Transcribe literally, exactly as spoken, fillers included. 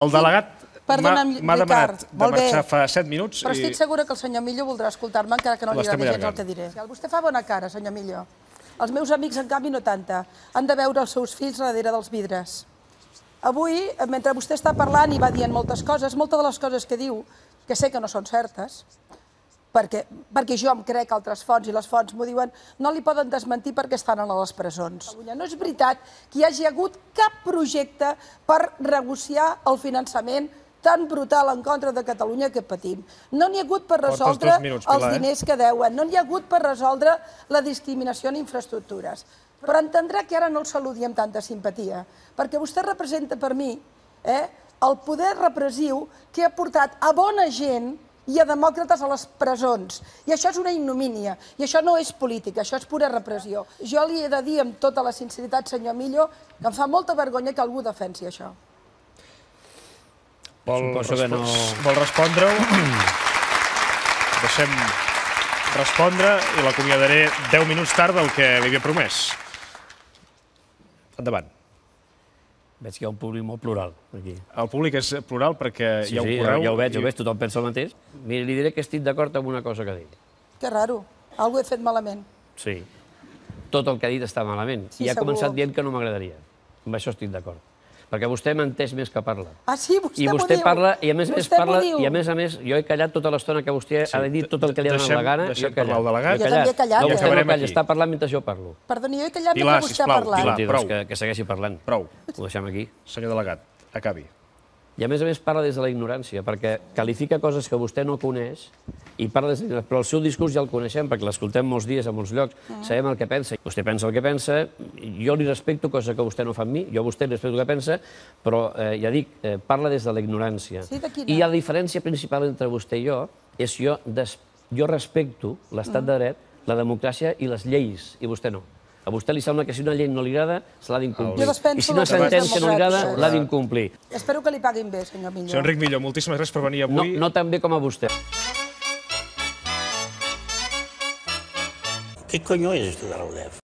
El delegat m'ha demanat de marxar fa set minuts. Però estic segura que el senyor Millo voldrà escoltar-me, encara que no li agradi gens el que diré. Vostè fa bona cara, senyor Millo. Els meus amics, en canvi, no tanta. Han de veure els seus fills darrere dels vidres. Avui, mentre vostè està parlant i va dient moltes coses, moltes de les coses que diu, que sé que no són certes, perquè jo em crec altres fonts i les fonts m'ho diuen, no li poden desmentir perquè estan a les presons. No és veritat que hi hagi hagut cap projecte per negociar el finançament tan brutal en contra de Catalunya que patim. No n'hi ha hagut per resoldre els diners que deuen, no n'hi ha hagut per resoldre la discriminació en infraestructures. Però entendrà que ara no el saludi amb tanta simpatia, perquè vostè representa per mi el poder repressiu que ha portat a bona gent i a demòcrates a les presons. I això és una ignomínia. I això no és política, això és pura repressió. Jo li he de dir amb tota la sinceritat, senyor Millo, que em fa molta vergonya que algú defensi això. Vol respondre-ho? Deixem respondre i l'acomiadaré deu minuts tard del que li havia promès. Endavant. Veig que hi ha un públic molt plural, aquí. El públic és plural perquè hi ha un correu... Sí, ja ho veig, ja ho veig, tothom pensa el mateix. Mira, li diré que estic d'acord amb una cosa que ha dit. Que raro, algú he fet malament. Sí, tot el que ha dit està malament. I ha començat dient que no m'agradaria. Amb això estic d'acord. Perquè vostè menteix més que parla. Ah, sí? Vostè m'ho diu? I vostè parla, i a més a més parla, i a més a més, jo he callat tota l'estona que vostè ha dit tot el que li ha donat la gana. Deixem parlar el delegat. Jo també he callat. No, vostè no calla, està parlant mentre jo parlo. Perdoni, jo he callat mentre vostè ha parlat. Prou. Que segueixi parlant. Prou. Ho deixem aquí. Senyor delegat, acabi. I a més a més parla des de la ignorància, perquè qualifica coses que vostè no coneix i parla des de la ignorància. Però el seu discurs ja el coneixem, perquè l'escoltem molts dies a molts llocs, sabem el que pensa. Vostè pensa el que pensa, jo li respecto, cosa que vostè no fa amb mi, jo a vostè li respecto el que pensa, però ja dic, parla des de la ignorància. I la diferència principal entre vostè i jo és jo jo respecto l'estat de dret, la democràcia i les lleis, i vostè no. A vostè li sembla que si una llei no li agrada, se l'ha d'incomplir. I si una sentència no li agrada, l'ha d'incomplir. Espero que li paguin bé, senyor Millo. Senyor Enric Millo, moltíssimes gràcies per venir avui. No tan bé com a vostè. ¿Qué coño es esto de la U D E F?